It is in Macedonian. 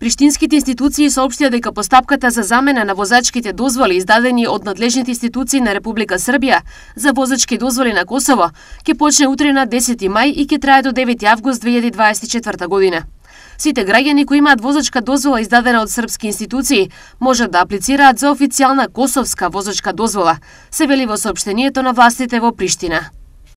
Приштинските институции соопштија дека постапката за замена на возачките дозволи издадени од надлежните институции на Република Србија за возачки дозволи на Косово ќе почне утре на 10 мај и ќе трае до 9 август 2024 година. Сите граѓани кои имаат возачка дозвола издадена од српски институции можат да аплицираат за официјална косовска возачка дозвола, се вели во соопштението на властите во Приштина.